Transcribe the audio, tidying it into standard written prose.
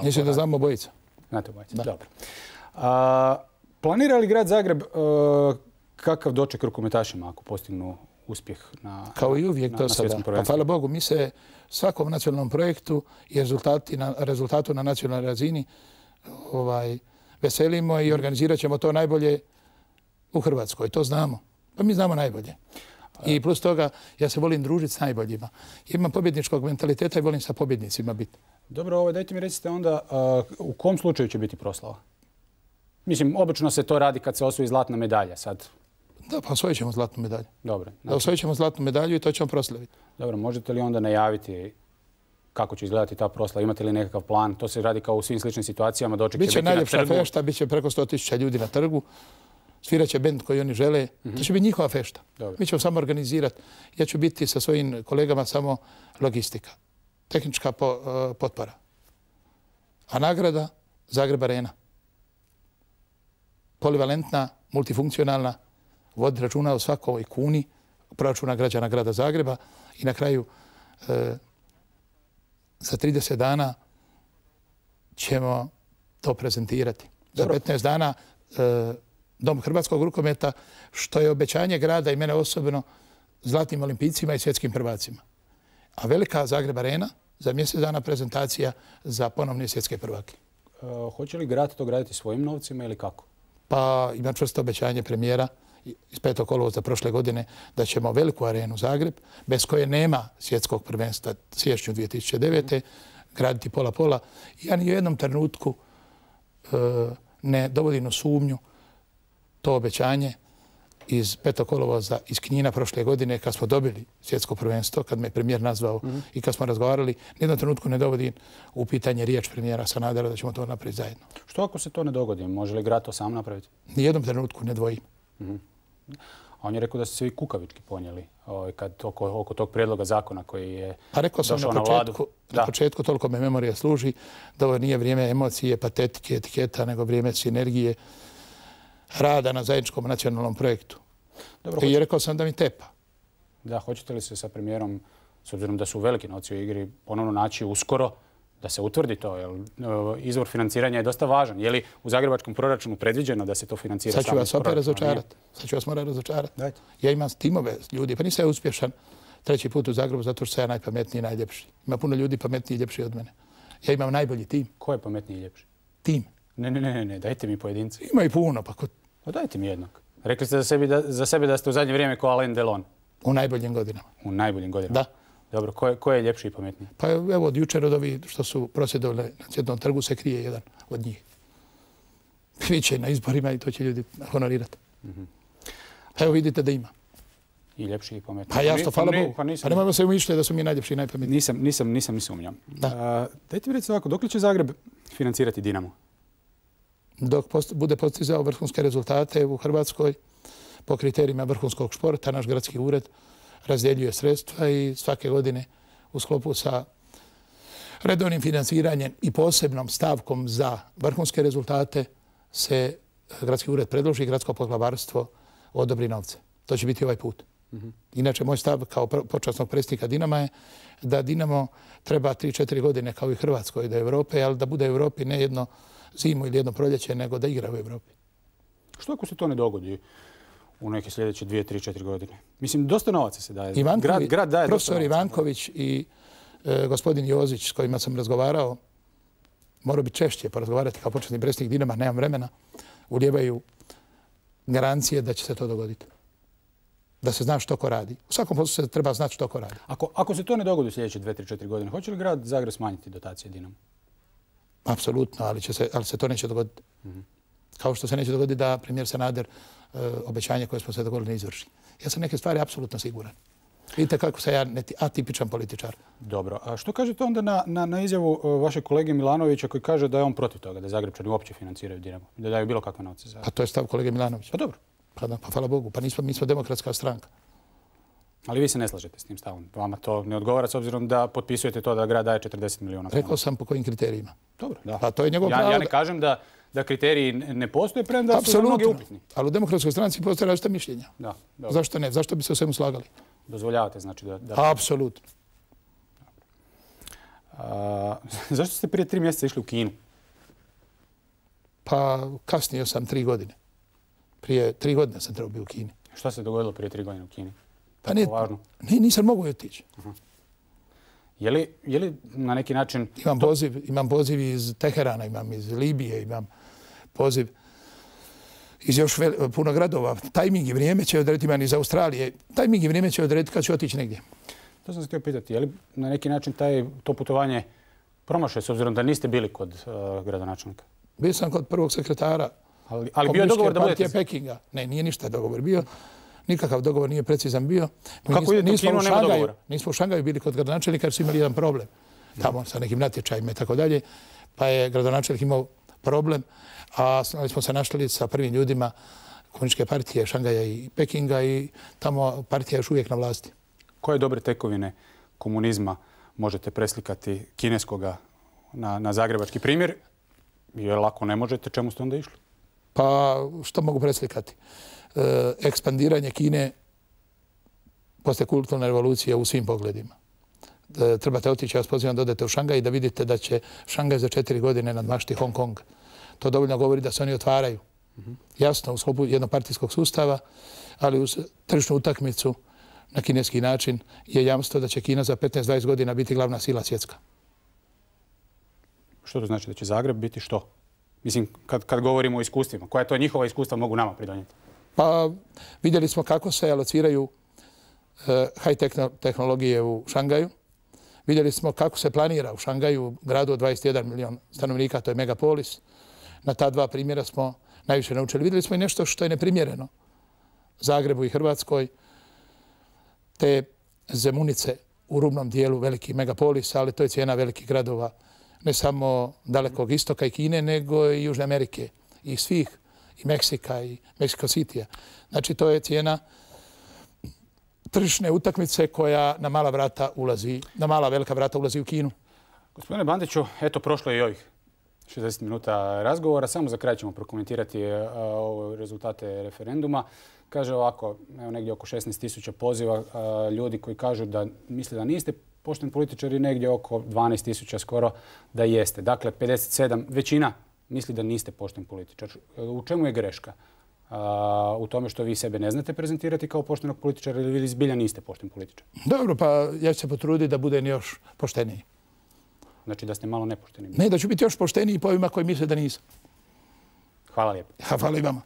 Mislim da znamo obojica. Znate obojica, dobro. Planira li grad Zagreb kakav doček rukometašima ako postignu uspjeh na Kao i uvijek do sada. Pa hvala Bogu, mi se svakom nacionalnom projektu i rezultatu na nacionalnoj razini veselimo i organizirat ćemo to najbolje u Hrvatskoj. To znamo. Pa mi znamo najbolje. I plus toga, ja se volim družiti s najboljima. Imam pobjedničkog mentaliteta i volim sa pobjednicima biti. Dobro, dajte mi recite onda u kom slučaju će biti proslava? Mislim, obično se to radi kad se osvoji zlatna medalja sad. Da, pa osvojit ćemo zlatnu medalju. Dobro. Da, osvojit ćemo zlatnu medalju i to ćemo proslaviti. Dobro, možete li onda najaviti kako će izgledati ta proslava? Imate li nekakav plan? To se radi kao u svim sličnim situacijama. Doček će biti na trgu. Biće najljepša fešta, bit će preko 100.000 ljudi na trgu. Svirat će bend koji oni žele. To će biti njihova fešta. Mi ćemo samo organizirati. Ja ću biti sa svojim kolegama samo logistika. Tehnička potpora. A nagrada Zagreb Arena. Polivalentna, multifunkcionalna, vodi računa o svakoj kuni proračuna građana grada Zagreba i na kraju za 30 dana ćemo to prezentirati. Za 15 dana Dom hrvatskog rukometa, što je obećanje grada i mene osobno zlatnim olimpijcima i svjetskim prvacima. A velika Zagreb Arena za mjesec dana prezentacija za ponovne svjetske prvake. Hoće li grad to graditi svojim novcima ili kako? Pa ima čvrsto obećanje premijera iz 5. kolovoza prošle godine da ćemo veliku arenu Zagreb, bez koje nema svjetskog prvenstva siječnju 2009. graditi pola-pola. Ja ni u jednom trenutku ne dovodim u sumnju to obećanje iz 5. kolovoza iz Knina prošle godine kad smo dobili svjetsko prvenstvo, kad me premijer nazvao i kad smo razgovarali, nijednom trenutku ne dovodim u pitanje riječ premijera Sanadera da ćemo to napraviti zajedno. Što ako se to ne dogodi? Može li grad to sam napraviti? Nijednom trenutku ne dvojim. A on je rekao da ste se vi kukavički ponijeli oko tog prijedloga zakona koji je došao na vladu. Na početku toliko me memorija služi da ovo nije vrijeme emocije, patetike, etiketa, nego vrijeme sinergije, rada na zajedničkom nacionalnom projektu. I rekao sam da mi tepa. Da, hoćete li se sa premijerom, s obzirom da su veliki novci u igri, ponovno naći uskoro da se utvrdi to? Izvor financiranja je dosta važan. Je li u zagrebačkom proračunu predviđeno da se to financira samo iz proračuna? Sad ću vas opet razočarati. Sad ću vas morati razočarati. Ja imam timove ljudi, pa nisam ja uspješan 3. put u Zagrebu zato što sam ja najpametniji i najljepši. Ima puno ljudi pametniji i ljepši od mene. Ja imam najbolji tim. Ko je pametniji i ljepši? Tim. Ne, dajte mi pojedince. Ima i puno, pa dajte mi jednog. Rekli ste za sebe da ste u zadnje vrijeme kao Alain Delon. U najboljim godinama. U najboljim godinama? Da. Dobro, ko je ljepši i pametniji? Pa evo od jučer od ovih što su prosvjedovali na Cvjetnom trgu se krije jedan od njih. Biće na izborima i to će ljudi honorirati. Evo vidite da ima. I ljepši i pametniji. Pa jasno, hvala Bogu. Pa nemojmo se umišljati da su mi najljepši i najpametniji. Nisam ni sumnjam. Dajte mi recite ovako, dok li će Zagreb financirati Dinamo? Dok bude postizao vrhunske rezultate u Hrvatskoj po kriterijima vrhunskog športa, naš gradski ured razdjeljuje sredstva i svake godine u sklopu sa redovnim financiranjem i posebnom stavkom za vrhunske rezultate se gradski ured predloži i gradsko poglavarstvo odobri novce. To će biti ovaj put. Inače, moj stav kao počasnog predsjednika Dinama je da Dinamo treba 3-4 godine kao i Hrvatskoj do Europe, ali da bude u Europi ne jedno zimu ili jedno proljeće, nego da igra u Europi. Što ako se to ne dogodi u neke sljedeće 2-3-4 godine? Mislim, dosta novaca se daje. Grad daje profesor Ivanković i gospodin Jozić s kojima sam razgovarao, morao bi češće porazgovarati kao počasni predsjednik Dinama, nemam vremena, ulijevaju garancije da će se to dogoditi. Da se zna što ko radi. U svakom poslu se treba znati što ko radi. Ako se to ne dogodi u sljedeće 2-3-4 godine, hoće li grad Zagreb smanjiti dotacije Dinamo? Apsolutno, ali se to neće dogoditi. Kao što se neće dogoditi da premijer Sanader obećanje koje smo se dogovorili ne izvrši. Ja sam neke stvari apsolutno siguran. Vidite kako sam ja atipičan političar. Dobro. A što kažete onda na izjavu vašeg kolege Milanovića koji kaže da je on protiv toga, da Zagrebčani uopće financiraju Dinamo, da daju bilo kakve novce za... Pa to je stav kolege Milanovića. Pa dobro. Pa hvala Bogu. Pa mi smo demokratska stranka. Ali vi se ne slažete s tim stavom. Vama to ne odgovara s obzirom da potpisujete to da grad daje 40 milijuna kuna. Rekao sam po kojim kriterijima. Dobro, da. Pa to je njegov pravo. Ja ne kažem da kriteriji ne postoje, premda su za mnogi upitni. Ali u demokratskoj stranci postoje različita mišljenja. Da. Zašto ne? Zašto bi se o svemu slagali? Dozvoljavate znači da... Apsolutno. Zašto ste prije 3 mjeseca išli u Kinu? Pa kasnio sam 3 godine. Prije 3 godine sam trebao biti u Kini. Šta se dogodilo prije 3 godine u Kini? Pa nisam mogu otići. Je li na neki način... Imam poziv iz Teherana, imam iz Libije, imam poziv iz još puno gradova. Tajming i vrijeme će odrediti, imam iz Australije. Tajming i vrijeme će odrediti kad ću otići negdje. To sam se htio pitati. Je li na neki način to putovanje promašaj s obzirom da niste bili kod gradonačelnika? Bio sam kod prvog sekretara ali bio je dogovor da budete... Pekinga. Ne, nije ništa dogovor bio. Nikakav dogovor nije precizan bio. Kako idete u Kinu, nema dogovora? Nismo u Šangaju bili kod gradonačelnika jer su imali jedan problem. Tamo sa nekim natječajima i tako dalje. Pa je gradonačelnik imao problem, a smo se našli sa prvim ljudima komunističke partije Šangaja i Pekinga i tamo partija je još uvijek na vlasti. Koje dobre tekovine komunizma možete preslikati kineskoga na zagrebački primjer? Jer ako ne možete, čemu ste onda išli? Pa što mogu preslikati? Ekspandiranje Kine posle kulturne revolucije u svim pogledima. Trebate otići, ja vas pozivam da odete u Šangaj i da vidite da će Šangaj za 4 godine nadmašiti Hong Kong. To dovoljno govori da se oni otvaraju. Jasno, u sklopu jednopartijskog sustava, ali uz tržišnu utakmicu na kineski način je jamstvo da će Kina za 15-20 godina biti glavna sila svjetska. Što to znači? Da će Zagreb biti što? Mislim, kad govorimo o iskustvima, koja to njihova iskustva mogu nama pridonijeti? Pa vidjeli smo kako se alociraju high tehnologije u Šangaju. Vidjeli smo kako se planira u Šangaju, gradu od 21 milion stanovnika, to je megapolis. Na ta 2 primjera smo najviše naučili. Vidjeli smo i nešto što je neprimjereno Zagrebu i Hrvatskoj. Te Zemunice u rubnom dijelu velikih megapolisa, ali to je cijena velikih gradova. Ne samo dalekog istoka i Kine, nego i Južne Amerike i svih, i Meksika i Mexico City-a. Znači, to je cijena tržišne utakmice koja na mala velika vrata ulazi u Kinu. Gospodine Bandiću, eto, prošlo je i ovih 60 minuta razgovora. Samo za kraj ćemo prokomentirati rezultate referenduma. Kaže ovako, evo negdje oko 16.000 poziva ljudi koji kažu da misle da niste pošteni političari, negdje oko 12.000 skoro da jeste. Dakle, 57, većina misli da niste pošten političar. U čemu je greška? U tome što vi sebe ne znate prezentirati kao poštenog političara ili vi zbilja niste pošten političar? Dobro, pa ja ću se potruditi da budem još pošteniji. Znači da ste malo nepošteni? Ne, da ću biti još pošteniji po ovima koji misle da nisam. Hvala lijepo. Hvala i vama.